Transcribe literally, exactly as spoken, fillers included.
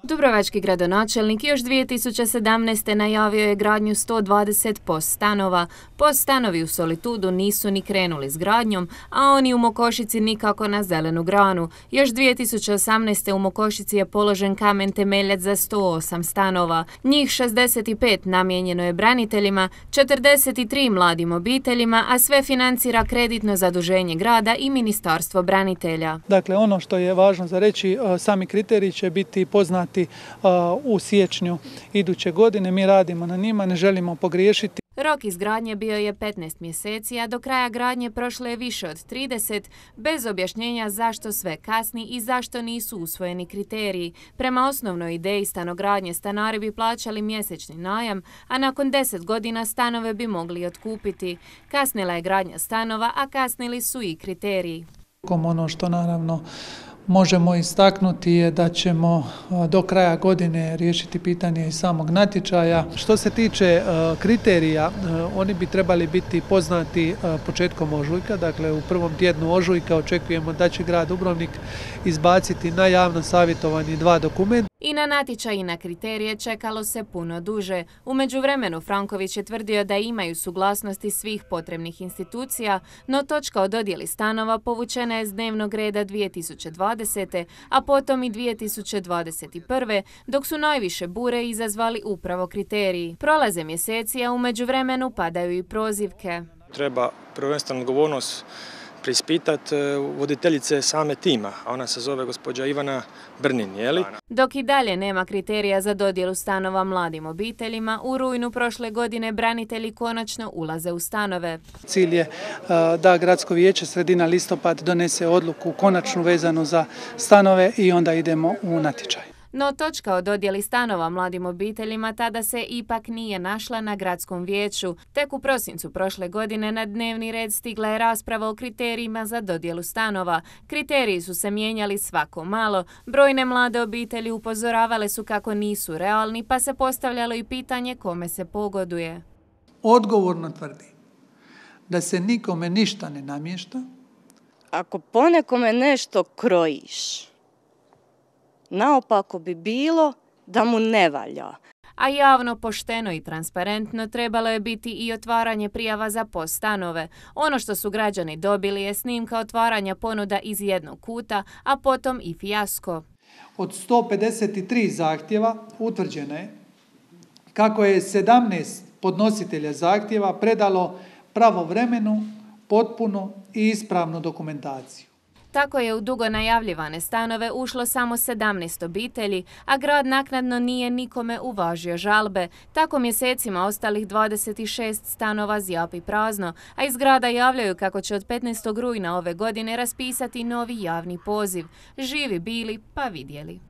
Dubrovački gradonačelnik još dvije tisuće sedamnaeste. najavio je gradnju sto dvadeset POS stanova. POS stanovi u Solitudu nisu ni krenuli s gradnjom, a oni u Mokošici nikako na zelenu granu. Još dvije tisuće osamnaeste. u Mokošici je položen kamen temeljac za sto osam stanova. Njih šezdeset pet namijenjeno je braniteljima, četrdeset tri mladim obiteljima, a sve financira kreditno zaduženje grada i Ministarstvo branitelja. Dakle, ono što je važno za reći, sami kriteriji će biti poznati u siječnju iduće godine. Mi radimo na njima, ne želimo pogriješiti. Rok izgradnje bio je petnaest mjeseci, a do kraja gradnje prošlo je više od trideset, bez objašnjenja zašto sve kasni i zašto nisu usvojeni kriteriji. Prema osnovnoj ideji stanogradnje stanari bi plaćali mjesečni najam, a nakon deset godina stanove bi mogli otkupiti. Kasnila je gradnja stanova, a kasnili su i kriteriji. Ono što naravno možemo istaknuti je da ćemo do kraja godine riješiti pitanje i samog natječaja. Što se tiče kriterija, oni bi trebali biti poznati početkom ožujka, dakle u prvom tjednu ožujka očekujemo da će grad Dubrovnik izbaciti na javno savjetovanje dva dokumenta. I na natječaj i na kriterije čekalo se puno duže. U međuvremenu Franković je tvrdio da imaju suglasnosti svih potrebnih institucija, no točka o dodjeli stanova povučena je s dnevnog reda dvije tisuće dvadesete. a potom i dvije tisuće dvadeset prve. dok su najviše bure izazvali upravo kriteriji. Prolaze mjeseci, a u međuvremenu padaju i prozivke. Treba prvenstveno odgovornost preispitati voditeljice same tima, a ona se zove gospođa Ivana Brnin, je li? Dok i dalje nema kriterija za dodjelu stanova mladim obiteljima, u rujnu prošle godine branitelji konačno ulaze u stanove. Cilj je da gradsko vijeće sredina listopad donese odluku konačnu vezanu za stanove i onda idemo u natječaj. No točka o dodjeli stanova mladim obiteljima tada se ipak nije našla na gradskom vijeću. Tek u prosincu prošle godine na dnevni red stigla je rasprava o kriterijima za dodjelu stanova. Kriteriji su se mijenjali svako malo. Brojne mlade obitelji upozoravale su kako nisu realni, pa se postavljalo i pitanje kome se pogoduje. Odgovorno tvrdim da se nikome ništa ne namješta. Ako ponekome nešto krojiš, naopako bi bilo da mu ne valja. A javno, pošteno i transparentno trebalo je biti i otvaranje prijava za POS stanove. Ono što su građani dobili je snimka otvaranja ponuda iz jednog kuta, a potom i fijasko. Od sto pedeset tri zahtjeva utvrđeno je kako je sedamnaest podnositelja zahtjeva predalo pravovremenu, potpunu i ispravnu dokumentaciju. Tako je u dugo najavljivane stanove ušlo samo sedamnaest obitelji, a grad naknadno nije nikome uvažio žalbe. Tako mjesecima ostalih dvadeset šest stanova zjapi prazno, a iz grada javljaju kako će od petnaestog rujna ove godine raspisati novi javni poziv. Živi bili pa vidjeli.